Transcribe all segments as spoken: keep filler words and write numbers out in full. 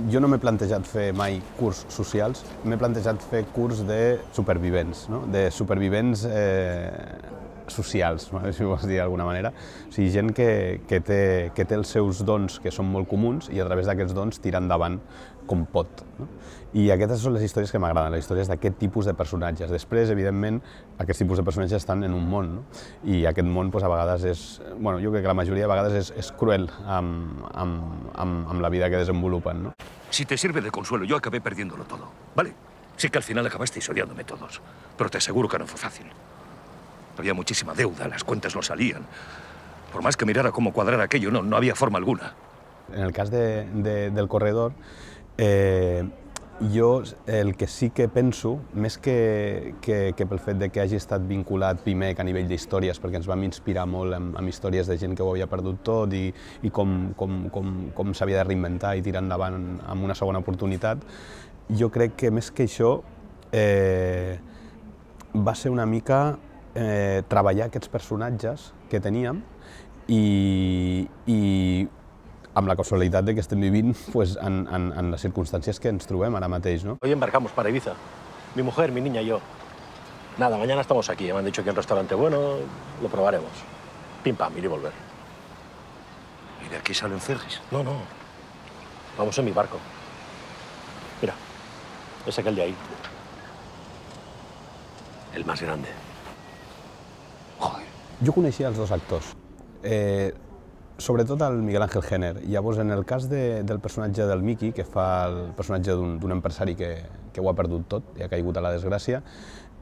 Jo no m'he plantejat fer mai curs socials, m'he plantejat fer curs de supervivents, no? De supervivents eh, socials, si vols dir d'alguna manera. O sigui, gent que, que, té, que té els seus dons que són molt comuns i a través d'aquests dons tira endavant com pot. No? I aquestes són les històries que m'agraden, les històries d'aquest tipus de personatges. Després, evidentment, aquests tipus de personatges estan en un món, no? I aquest món doncs, a vegades és, bueno, jo crec que la majoria de vegades és, és cruel amb, amb, amb, amb la vida que desenvolupen, no? Si te sirve de consuelo, yo acabé perdiéndolo todo, ¿vale? Sí que al final acabasteis odiándome todos, pero te aseguro que no fue fácil. Había muchísima deuda, las cuentas no salían. Por más que mirara cómo cuadrar aquello, no, no había forma alguna. En el cas de, de, del corredor, eh, jo el que sí que penso, més que, que, que pel fet de que hagi estat vinculat Pimec a nivell d'històries, perquè ens vam inspirar molt amb, amb històries de gent que ho havia perdut tot i, i com, com, com, com s'havia de reinventar i tirar endavant amb una segona oportunitat, jo crec que més que això eh, va ser una mica eh, treballar aquests personatges que teníem i, i amb la casualitat de que estem vivint pues, en, en, en les circumstàncies que ens trobem ara mateix, ¿no? Hoy embarcamos para Ibiza. Mi mujer, mi niña y yo. Nada, mañana estamos aquí. Me han dicho que hay un restaurante bueno, lo probaremos. Pim pam, ir y volver. ¿Y de aquí salen ferries? No, no. Vamos en mi barco. Mira, es aquel de ahí. El más grande. Joder. Jo coneixia els dos actors. Eh, Sobretot el Miguel Ángel Jenner. Llavors, en el cas de, del personatge del Miqui, que fa el personatge d'un empresari que, que ho ha perdut tot i ha caigut a la desgràcia,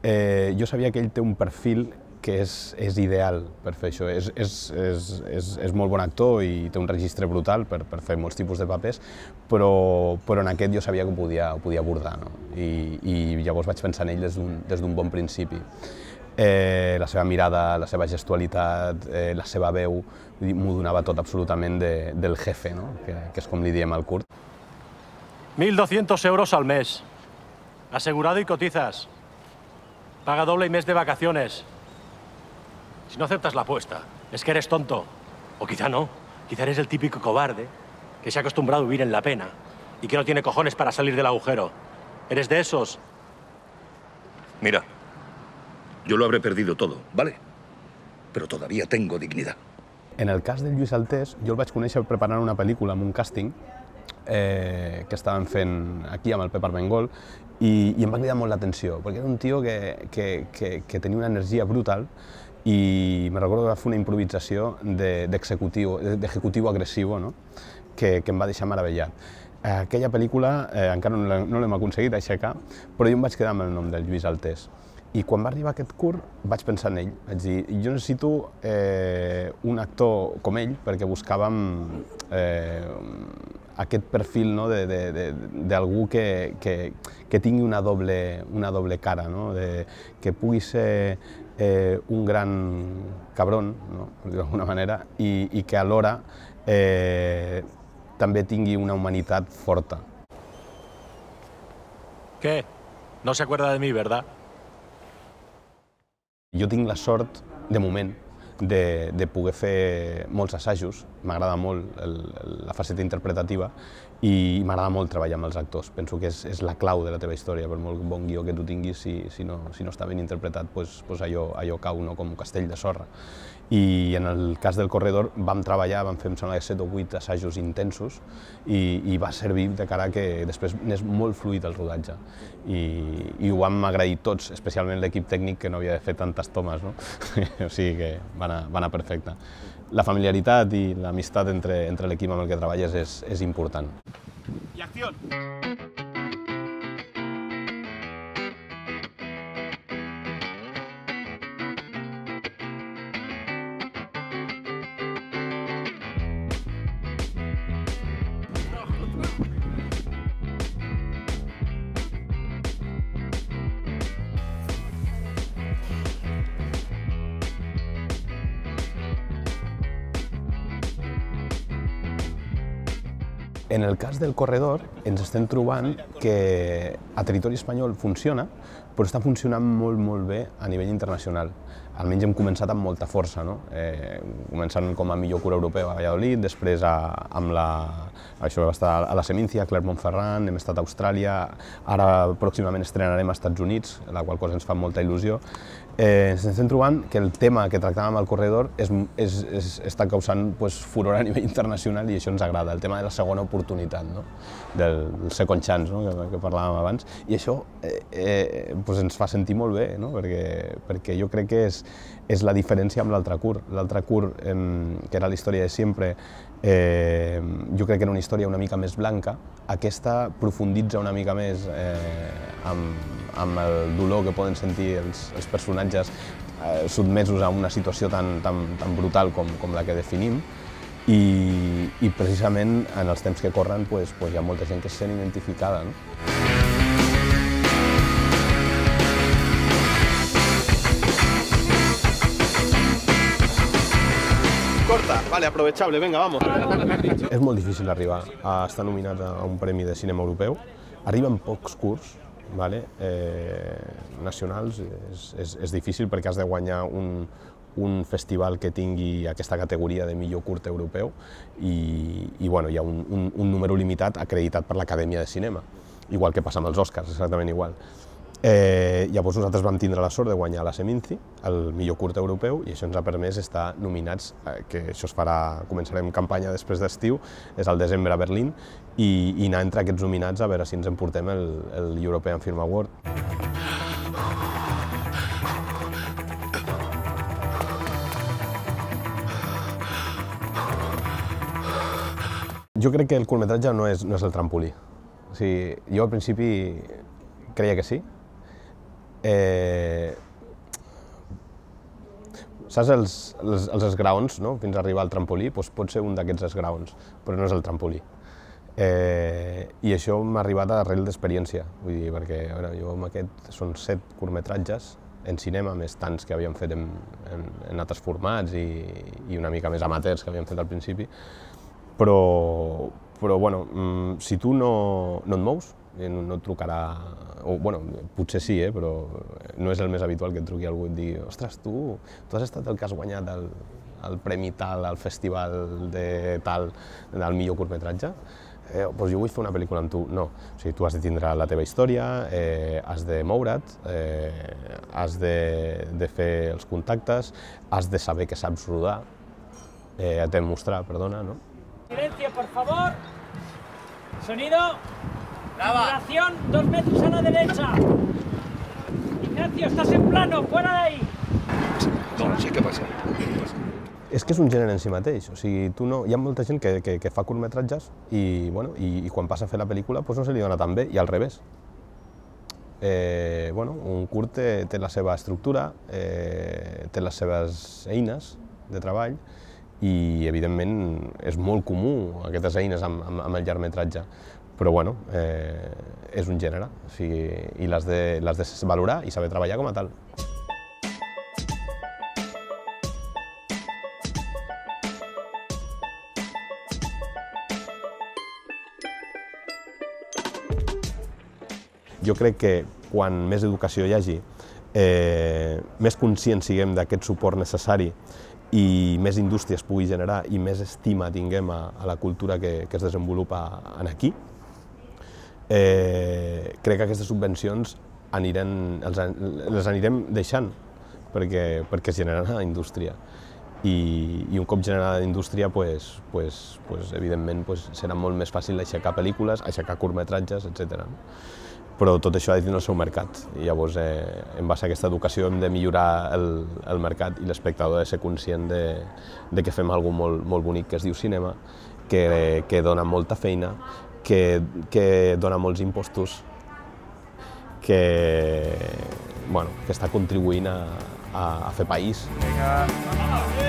eh, jo sabia que ell té un perfil que és, és ideal per fer això. És, és, és, és, és molt bon actor i té un registre brutal per, per fer molts tipus de papers, però, però en aquest jo sabia que ho podia, ho podia abordar, no? I, i llavors vaig pensar en ell des d'un bon principi. Eh, la seva mirada, la seva gestualitat, eh, la seva veu, m'ho donava tot absolutament de, del jefe, no? que, que és com li diem al Kurt. mil doscientos euros al mes. Asegurado y cotizas. Paga doble y mes de vacaciones. Si no aceptas la apuesta, es que eres tonto. O quizá no. Quizá eres el típico cobarde que se ha acostumbrado a vivir en la pena y que no tiene cojones para salir del agujero. ¿Eres de esos? Mira. Yo lo habré perdido todo, ¿vale? Pero todavía tengo dignidad. En el cas del Lluís Altés, jo el vaig conèixer preparant una pel·lícula amb un càsting eh, que estaven fent aquí amb el Pep Armengol i, i em va cridar molt l'atenció, perquè era un tio que, que, que, que tenia una energia brutal i me recordo que va fer una improvisació d'executiu de, d'executiu agressiu, no? que, que em va deixar meravellat. Aquella pel·lícula eh, encara no l'hem aconseguit aixecar, però jo em vaig quedar amb el nom del Lluís Altés. I quan va arribar aquest curt vaig pensar en ell, vaig dir, jo necessito eh, un actor com ell perquè buscàvem eh, aquest perfil, no, d'algú que, que, que tingui una doble, una doble cara, no? de, que pugui ser eh, un gran cabron, no? per dir d'alguna manera, i, i que alhora eh, també tingui una humanitat forta. ¿Qué? No se acuerda de mí, ¿verdad? Jo tinc la sort, de moment, de, de poder fer molts assajos. M'agrada molt el, la faceta interpretativa i m'agrada molt treballar amb els actors. Penso que és, és la clau de la teva història, per molt bon guió que tu tinguis, si, si, no, si no està ben interpretat, pues, pues allò, allò cau, no? Com un castell de sorra. I en el cas del corredor vam treballar, vam fer, em sembla, set o vuit assajos intensos i, i va servir de cara que després n'és molt fluid el rodatge. I, i ho vam agrair tots, especialment l'equip tècnic que no havia de fer tantes tomes, no? O sigui que va anar, va anar perfecte. La familiaritat i l'amistat entre, entre l'equip amb el que treballes és, és important. I acció! En el cas del corredor ens estem trobant que a territori espanyol funciona, però està funcionant molt, molt bé a nivell internacional. Almenys hem començat amb molta força, no? Eh, començant com a millor curt europeu a Valladolid, després a, amb la, això va estar a la Seminci, a Clermont-Ferrand, hem estat a Austràlia, ara pròximament estrenarem als Estats Units, la qual cosa ens fa molta il·lusió. Eh, ens estem trobant que el tema que tractàvem al corredor és, és, és, està causant pues, furor a nivell internacional i això ens agrada, el tema de la segona oportunitat, no? Del, del second chance, no? que, que parlàvem abans, i això eh, eh, pues ens fa sentir molt bé, no? perquè, perquè jo crec que és, és la diferència amb l'altre curt. L'altre curt, eh, que era la història de sempre, eh, jo crec que era una història una mica més blanca, aquesta profunditza una mica més eh, amb, amb el dolor que poden sentir els, els personatges eh, sotmesos a una situació tan, tan, tan brutal com, com la que definim i, i precisament en els temps que corren pues, pues hi ha molta gent que se sent identificada. No? Corta, vale, aprovechable, venga, vamos. És molt difícil arribar a estar nominat a un premi de cinema europeu. Arriben pocs curts, vale? eh, nacionals, és, és, és difícil perquè has de guanyar un, un festival que tingui aquesta categoria de millor curt europeu i, i bueno, hi ha un, un, un número limitat acreditat per l'Acadèmia de Cinema, igual que passa amb els Oscars, exactament igual. Eh, llavors nosaltres vam tindre la sort de guanyar la Seminci, el millor curt europeu, i això ens ha permès estar nominats, eh, que això es farà, començarem campanya després d'estiu, és al desembre a Berlín, i, i anar entre aquests nominats a veure si ens emportem el, el European Film Award. Jo crec que el curtmetratge no és, no és el trampolí. O sigui, jo al principi creia que sí. Eh, saps els, els, els esgraons, no? Fins a arribar al trampolí? Doncs pot ser un d'aquests esgraons, però no és el trampolí. Eh, I això m'ha arribat arrel d'experiència, vull dir, perquè bueno, jo amb aquest són set curtmetratges en cinema, més tants que havíem fet en, en, en altres formats i, i una mica més amateurs que havíem fet al principi, però, però bueno, si tu no, no et mous, no, no et trucarà, o bueno, potser sí, eh, però no és el més habitual que et truqui algú i et digui ostres, tu, tu has estat el que has guanyat el, el premi tal, al festival de tal, del millor curtmetratge? Eh, doncs jo vull fer una pel·lícula amb tu. No, o sigui, tu has de tindre la teva història, eh, has de moure't, eh, has de, de fer els contactes, has de saber que saps rodar, eh, et de mostrar, perdona, no? Silencio, por favor. Sonido. Grabación, dos metros a la derecha. Ignacio, estás en plano, fuera de ahí. No, no sé què passa. És que és un gènere en si mateix, o sigui, tu no, hi ha molta gent que, que, que fa curtmetratges i, bueno, i, i quan passa a fer la pel·lícula doncs no se li dona tan bé, i al revés. Eh, bueno, un curt té, té la seva estructura, eh, té les seves eines de treball i, evidentment, és molt comú aquestes eines amb, amb, amb el llargmetratge. Però bueno, eh, és un gènere, o sigui, i l'has de, l'has de valorar i saber treballar com a tal. Jo crec que quan més educació hi hagi, eh, més conscients siguem d'aquest suport necessari i més indústria es pugui generar i més estima tinguem a, a la cultura que, que es desenvolupa aquí, Eh, crec que aquestes subvencions anirem, els, les anirem deixant perquè, perquè es generarà indústria i, i un cop generada indústria pues, pues, pues, evidentment pues, serà molt més fàcil aixecar pel·lícules, aixecar curtmetratges, etcètera. Però tot això ha de tenir el seu mercat i llavors eh, en base a aquesta educació hem de millorar el, el mercat i l'espectador ha de ser conscient de, de que fem alguna molt, molt bonic que es diu cinema, que, que dona molta feina, Que, que dona molts impostos, que, bueno, que està contribuint a, a, a fer país. Venga.